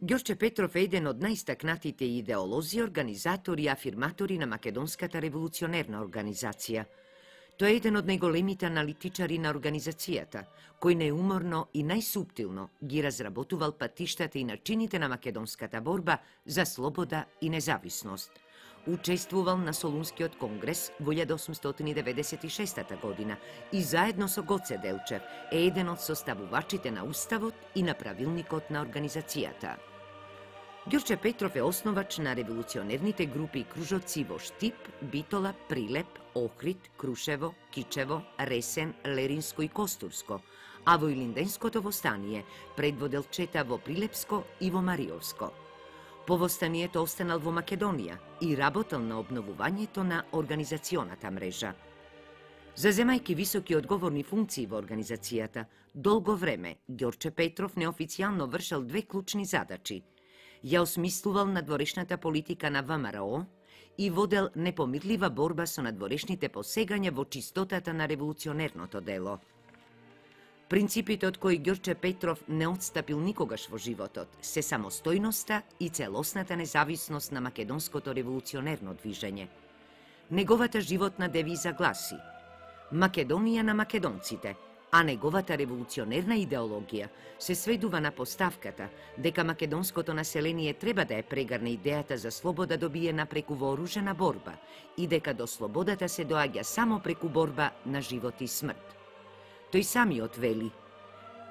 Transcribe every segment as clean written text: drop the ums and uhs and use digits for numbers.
Ѓорче Петров е еден од најстакнатите идеолози, организатори и афирматори на Македонската револуционерна организација. Тој е еден од најголемите аналитичари на организацијата, кој најуморно и најсуптилно ги разработувал патиштата и начините на македонската борба за слобода и независност. Учествувал на Солунскиот конгрес во 1896 година и заедно со Гоце Делчев е еден од составувачите на Уставот и на правилникот на организацијата. Ѓорче Петров е основач на револуционерните групи и кружоци во Штип, Битола, Прилеп, Охрид, Крушево, Кичево, Ресен, Леринско и Костурско, а во Илинденското востание предводел чета во Прилепско и во Мариовско. По востанието останал во Македонија и работел на обновувањето на организационата мрежа. Заземајќи високи и одговорни функции во организацијата, долго време Ѓорче Петров неофицијално вршел две клучни задачи. Ја осмислувал надворешната политика на ВМРО и водел непомирлива борба со надворешните посегања во чистотата на револуционерното дело. Принципите од кои Ѓорче Петров не отстапил никогаш во животот се самостојноста и целосната независност на македонското револуционерно движење. Неговата животна девиза гласи: Македонија на македонците, а неговата револуционерна идеологија се сведува на поставката дека македонското население треба да ја прегарне идејата за слобода добиена преку вооружена борба и дека до слободата се доаѓа само преку борба на живот и смрт. Тој самиот вели: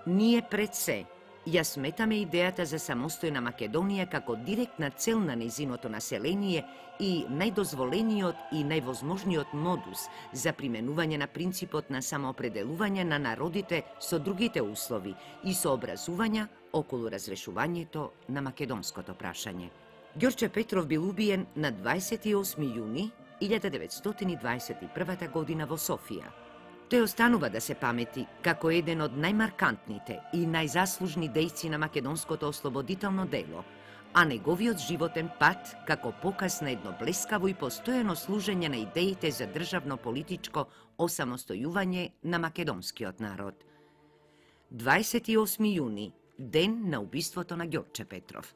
ние пред се ја сметаме идејата за самостојна Македонија како директна цел на нејзиното население и најдозволениот и највозможниот модус за применување на принципот на самоопределување на народите со другите услови и сообразувања околу разрешувањето на македонското прашање. Ѓорче Петров бил убиен на 28 јуни 1921 година во Софија. Тој останува да се памети како еден од најмаркантните и најзаслужни дејци на македонското ослободително дело, а неговиот животен пат како показ на едно блескаво и постојано служење на идеите за државно-политичко осамостојување на македонскиот народ. 28 јуни, ден на убиството на Ѓорче Петров.